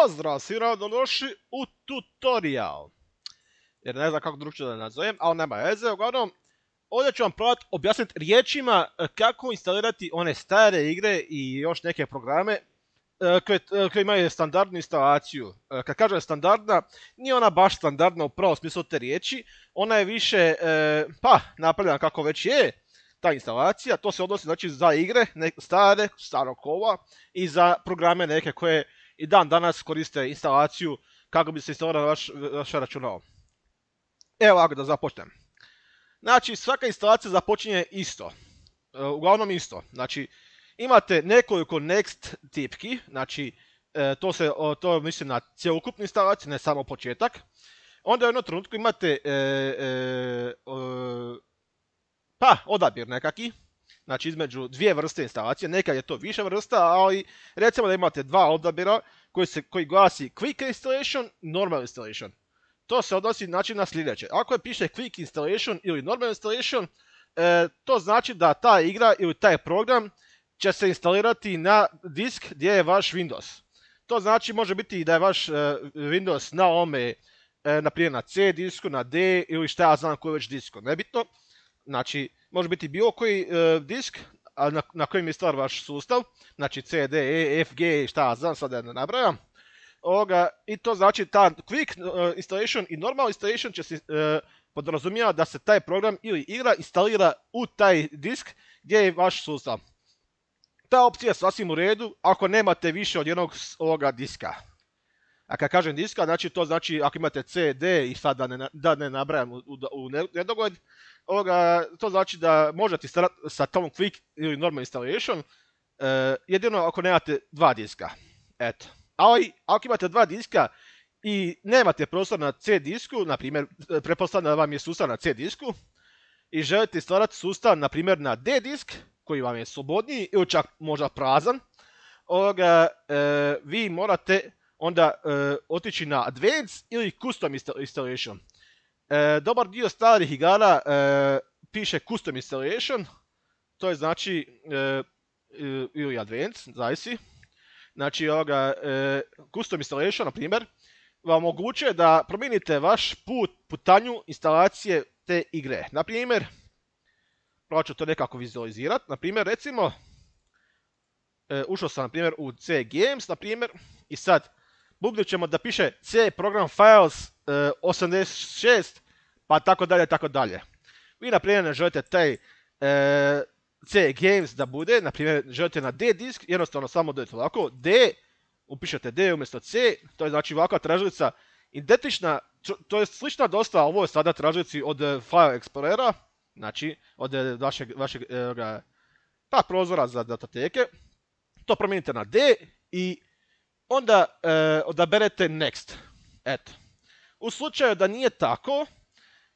Pozdrav, svi dobrodošli u tutorial. Jer ne znam kako drugčije da nazovem, ali nema veze. Uglavnom, ovdje ću vam probati objasniti riječima kako instalirati one stare igre i još neke programe koje imaju standardnu instalaciju. Kad kažem standardna, nije ona baš standardna u pravom smislu te riječi. Ona je više, napravljena kako već je ta instalacija. To se odnosi znači za igre, stare, starog kova i za programe neke koje i dan danas koriste instalaciju kako bi se instalirala vaše računalo. Evo ovako da započnem. Znači svaka instalacija započinje isto. Uglavnom isto. Znači imate nekoliko next tipki. Znači to mislim na cjelokupnu instalaciju, ne samo početak. Onda u jednom trenutku imate odabir nekaki. Znači između dvije vrste instalacije, nekad je to više vrsta, ali recimo da imate dva odabira koji glasi Quick Installation i Normal Installation. To se odnosi znači na sljedeće. Ako je piše Quick Installation ili Normal Installation, to znači da ta igra ili taj program će se instalirati na disk gdje je vaš Windows. To znači može biti i da je vaš Windows na ovome, naprimjer na C disku, na D ili šta ja znam koji već disku, nebitno. Znači, može biti bilo koji disk na kojem je stvar vaš sustav, znači C, D, E, F, G, šta ja znam, sad da ne nabrajam. I to znači ta Quick Installation i Normal Installation će se podrazumijeva da se taj program ili igra instalira u taj disk gdje je vaš sustav. Ta opcija je sasvim u redu ako nemate više od jednog ovoga diska. A kad kažem diska, znači to znači ako imate C, D i sad da ne nabrajam u nedogled, to znači da možete instalirati sa tom Quick ili Normal Installation, jedino ako nemate dva diska. Eto. Ali ako imate dva diska i nemate prostor na C disku, na primjer, pretpostavljam da vam je sustav na C disku, i želite instalirati sustav, na primjer, na D disk, koji vam je slobodniji ili čak možda prazan, vi morate onda otići na Advanced ili Custom Installation. Dobar dio starih igara piše Custom Installation, to je znači ili Advanced, zavisi. Znači Custom Installation, na primjer, vam omogućuje da promijenite vaš putanju instalacije te igre. Na primjer, probat ću to nekako vizualizirati. Na primjer, recimo, ušao sam na primjer u C Games, na primjer, i sad bubnut ćemo da piše C Program Files 86, pa tako dalje, tako dalje. Vi, na primjer, ne želite taj C Games da bude, na primjer, želite na D disk, jednostavno samo dodajte ovako, D, upišete D umjesto C, to je znači ovakva tražilica identična, to je slična dosta, ovo je sada tražilici od File Explorera, znači od vašeg prozora za datoteke. To promijenite na D i onda odaberete Next. Eto. U slučaju da nije tako,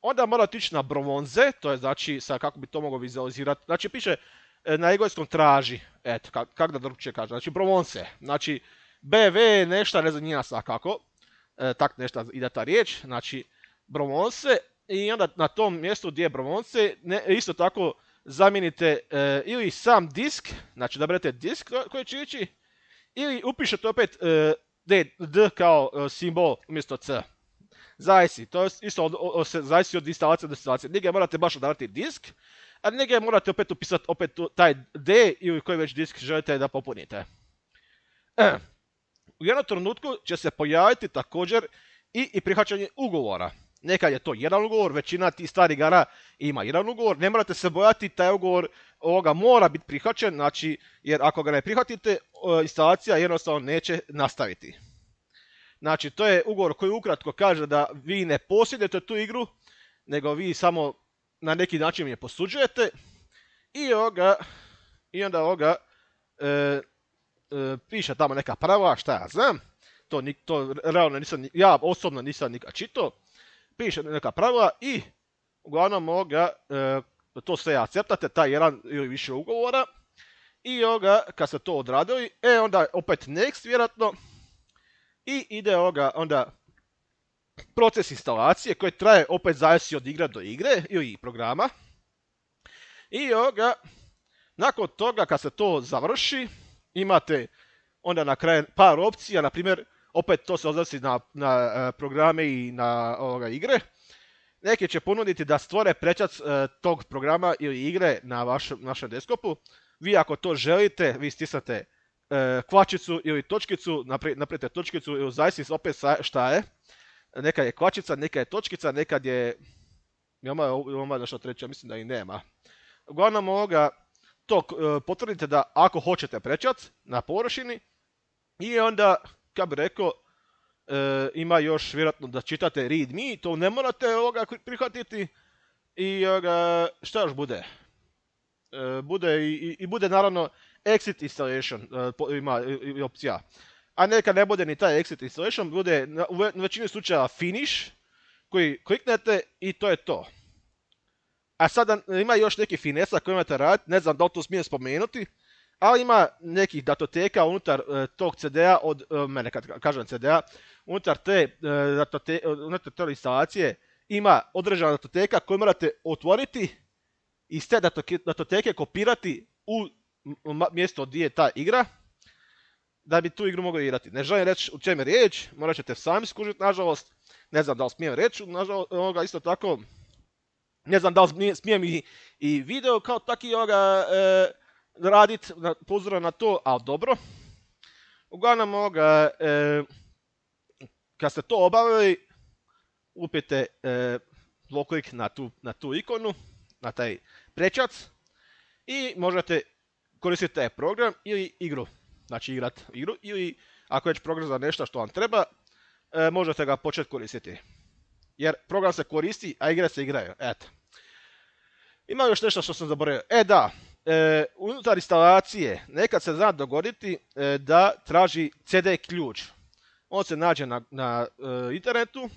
onda morate ići na bronze, to je znači, sad kako bi to mogao vizualizirati, znači piše na engleskom traži, eto, kako da drugčije kaže, znači bronze, znači BV nešto, ne znam nija sad kako, tak nešto ide ta riječ, znači bronze, i onda na tom mjestu gdje je bronze, isto tako zamijenite ili sam disk, znači da berete disk koji će ići, ili upišete opet D kao simbol umjesto C. Zavisi, to je isto zavisi od instalacije do instalacije. Negdje morate baš odabrati disk, a negdje morate opet upisati taj D ili koji već disk želite da popunite. U jednom trenutku će se pojaviti također i prihvaćanje ugovora. Nekad je to jedan ugovor, većina tih starih igara ima jedan ugovor, ne morate se bojati, taj ugovor mora biti prihvaćen, znači, jer ako ga ne prihvatite, instalacija jednostavno neće nastaviti. Znači, to je ugovor koji ukratko kaže da vi ne posjedujete tu igru, nego vi samo na neki način je posuđujete i onda piše tamo neka pravila, šta ja znam, to realno ja osobno nisam nikad čitao, piše neka pravila i uglavnom to sve akceptate, taj jedan ili više ugovora, i kad ste to odradili, onda opet next vjerojatno, i ide onda proces instalacije koji traje opet zavisi od igre do igre ili programa. I nakon toga kad se to završi, imate onda na kraju par opcija, na primjer opet to se odnosi na programe i na igre. Neki će ponuditi da stvore prečac tog programa ili igre na vašem desktopu. Vi ako to želite, vi stisnete kvačicu ili točkicu, napravite točkicu ili zavisi opet šta je. Nekad je kvačica, nekad je točkica, nekad je... Ima nešto treće, mislim da i nema. Uglavnom to potvrdite da ako hoćete prečac na površini i onda, kako bi rekao, ima još vjerojatno da čitate readme, to ne morate prihvatiti i šta još bude? Bude naravno exit installation, ima opcija. A neka ne bude ni taj exit installation, bude u većini slučaja finish, koji kliknete i to je to. A sada ima još neki finesa koji imate raditi, ne znam da li to smijem spomenuti, ali ima nekih datoteka unutar tog CD-a, mene kad kažem CD-a, unutar te instalacije ima određena datoteka koju morate otvoriti i iz te datoteke kopirati u mjesto gdje je ta igra, da bi tu igru mogli igrati. Ne želim reći u čem je riječ, morat ćete sami skužiti, nažalost. Ne znam da li smijem reći, nažalost, isto tako. Ne znam da li smijem i video kao taki raditi, po uzoru na to, ali dobro. Uglavnom, kad ste to obavili, upijete dvoklik na tu ikonu, na taj prečac i možete koristiti taj program ili igru. Znači igrati igru ili ako je već program za nešto što vam treba, možete ga početi koristiti. Jer program se koristi, a igre se igraju. Eto. Ima još nešto što sam zaboravio. Unutar instalacije nekad se zna dogoditi da traži CD ključ. On se nađe na internetu.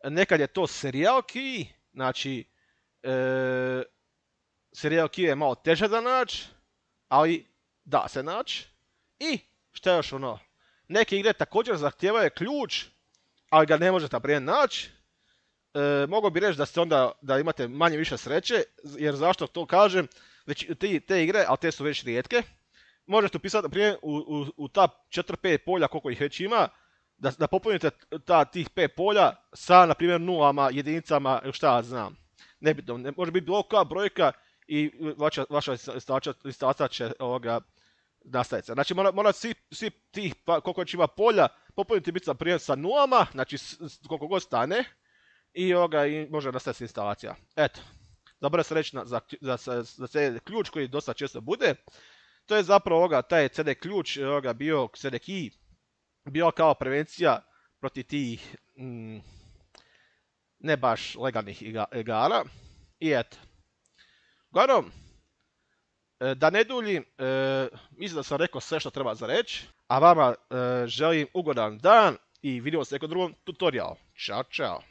Nekad je to serial key. Znači, serial key je malo teže da naći, ali da se naći. I šta još neke igre također zahtijevaju ključ, ali ga ne možete naprijed naći. Mogu bi reći da imate manje više sreće, jer zašto to kažem, već te igre, ali te su već rijetke, možete upisati naprijed u ta 4-5 polja koliko ih već ima, da popunite tih 5 polja sa, na primjer, nulama, jedinicama, šta ja znam. Nebitno, može biti bilo koja brojka i vaša instalacija će nastaviti. Znači mora svi tih, koliko već ima polja, popuniti biti naprijed sa nulama, znači koliko god stane, i može nastaviti instalacija. Eto, zaboravio sam reći za CD ključ koji dosta često bude. To je zapravo taj CD ključ bio CD key, bio kao prevencija protiv tih ne baš legalnih igara. I eto. Uglavnom, da ne duljim, mislim da sam rekao sve što treba za reći, a vama želim ugodan dan i vidimo se u nekom drugom tutorialu. Ćao, čao.